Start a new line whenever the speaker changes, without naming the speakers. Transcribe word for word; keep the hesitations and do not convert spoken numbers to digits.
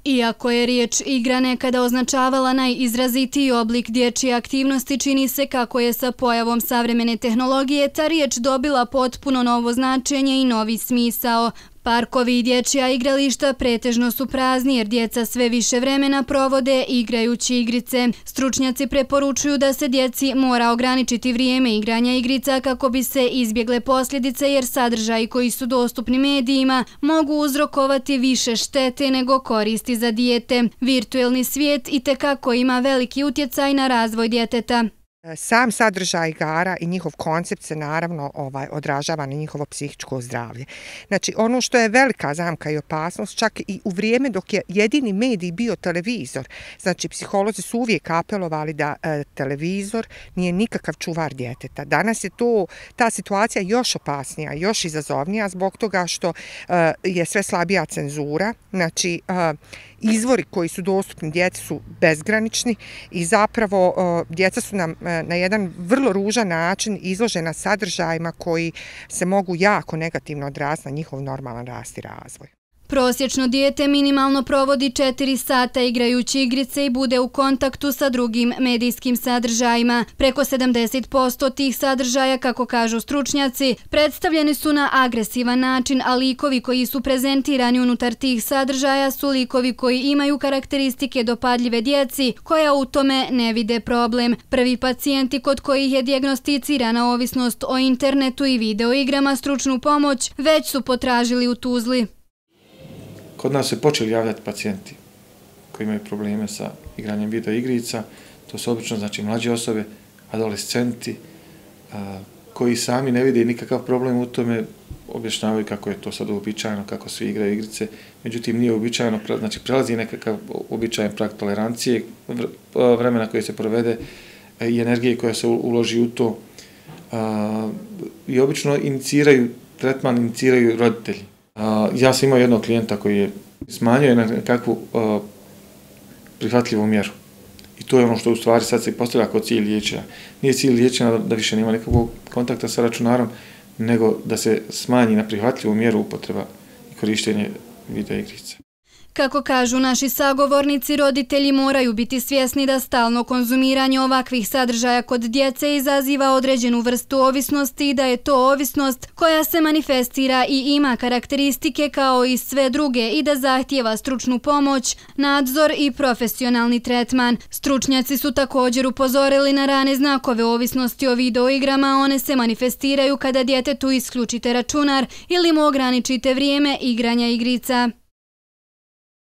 Iako je riječ igra nekada označavala najizrazitiji oblik dječje aktivnosti, čini se kako je sa pojavom savremene tehnologije ta riječ dobila potpuno novo značenje i novi smisao. Parkovi i dječja igrališta pretežno su prazni jer djeca sve više vremena provode igrajući igrice. Stručnjaci preporučuju da se djeci mora ograničiti vrijeme igranja igrica kako bi se izbjegle posljedice jer sadržaji koji su dostupni medijima mogu uzrokovati više štete nego koristi za dijete. Virtuelni svijet itekako ima veliki utjecaj na razvoj djeteta.
Sam sadržaj igara i njihov koncept se naravno ovaj, odražava na njihovo psihičko zdravlje. Znači, ono što je velika zamka i opasnost, čak i u vrijeme dok je jedini medij bio televizor, znači psiholozi su uvijek apelovali da e, televizor nije nikakav čuvar djeteta. Danas je to, ta situacija još opasnija, još izazovnija zbog toga što e, je sve slabija cenzura, znači e, izvori koji su dostupni djeci su bezgranični i zapravo e, djeca su nam na jedan vrlo ružan način izložena sadržajima koji se mogu jako negativno odraziti na njihov normalan rast i razvoj.
Prosječno dijete minimalno provodi četiri sata igrajući igrice i bude u kontaktu sa drugim medijskim sadržajima. Preko sedamdeset posto tih sadržaja, kako kažu stručnjaci, predstavljeni su na agresivan način, a likovi koji su prezentirani unutar tih sadržaja su likovi koji imaju karakteristike dopadljive djeci, koja u tome ne vide problem. Prvi pacijenti kod kojih je dijagnosticirana ovisnost o internetu i videoigrama stručnu pomoć već su potražili u Tuzli.
Kod nas se počeli javljati pacijenti koji imaju probleme sa igranjem video igrica. To su obično znači mlađe osobe, adolescenti, a, koji sami ne vide nikakav problem u tome, objašnjavaju kako je to sad uobičajeno, kako svi igraju igrice. Međutim, nije uobičajeno, znači prelazi nekakav uobičajen prag tolerancije, vremena koje se provede i energije koja se uloži u to. A, I obično iniciraju, tretman iniciraju roditelji. Uh, ja sam imao jednog klijenta koji je smanjio na nekakvu uh, prihvatljivu mjeru. I to je ono što u stvari sad se postavlja kao cilj liječenja. Nije cilj liječenja da, da više nema nekakvog kontakta sa računarom, nego da se smanji na prihvatljivu mjeru upotreba i korištenje video igrica.
Kako kažu naši sagovornici, roditelji moraju biti svjesni da stalno konzumiranje ovakvih sadržaja kod djece izaziva određenu vrstu ovisnosti i da je to ovisnost koja se manifestira i ima karakteristike kao i sve druge i da zahtijeva stručnu pomoć, nadzor i profesionalni tretman. Stručnjaci su također upozorili na rane znakove ovisnosti o videoigrama, one se manifestiraju kada djetetu isključite računar ili mu ograničite vrijeme igranja igrica.